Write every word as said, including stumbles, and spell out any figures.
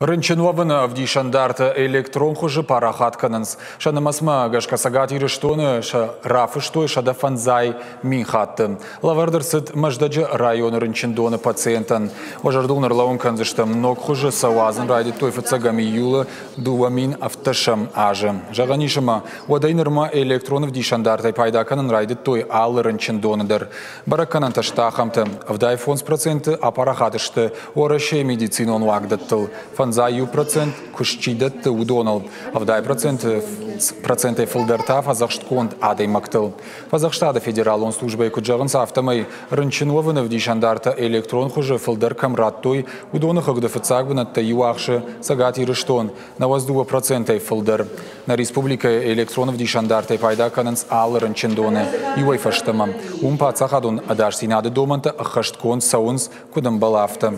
Рынчын уӕвыны ӕвдисӕндартӕ электрон хуызы парахат кӕнынц. Сӕ нымӕцмӕ гӕсгӕ Цӕгат Ирыстоны сӕ рафыстой сӕдӕ фӕндзай мин хатты. Лӕвӕрд ӕрцыд Мӕздӕджы районы рынчындоны пациентӕн. Уӕ зӕрдыл ӕрлӕууын кӕндзыстӕм, ног хуызы сӕ уадзын райдыдтой фыццӕгӕм июлы дыууӕ мин ӕвддӕсӕм азы. Зӕгъӕн ис, ӕмӕ уӕдӕй нырмӕ электрон ӕвдисӕндартӕй пайда кӕнын райдыдтой алы рынчындоны дӕр. Бӕрӕггӕнӕнтӕ сты ахӕмтӕ: ӕвдай фондз проценты апарахат сты Уӕрӕсейы медицинон уагдӕттыл, фӕндзай иу процент куыст чи дӕтты, уыдоныл, ӕвдай процентӕй фылдӕр та фӕдзӕхстгонд адӕймӕгтыл. Фӕдзӕхстады федералон службӕйы куыд зӕгъынц, афтӕмӕй рынчын уӕвыны ӕвдисӕндартӕ электрон хуызы фылдӕр кӕм радтой, уыдоны хыгъды фыццаг бынӕттӕ иу ахсы Цӕгат Ирыстон, нӕуӕдз дыууӕ процентӕй фылдӕр. Нӕ республикӕйы электрон ӕвдисӕндартӕй пайда кӕнынц алы рынчындоны иуӕй фӕстӕмӕ. Уым паддзахадон ӕдасдзинады домӕнтӕ ӕххӕстгонд цӕуынц, куыд ӕмбӕлы, афтӕ.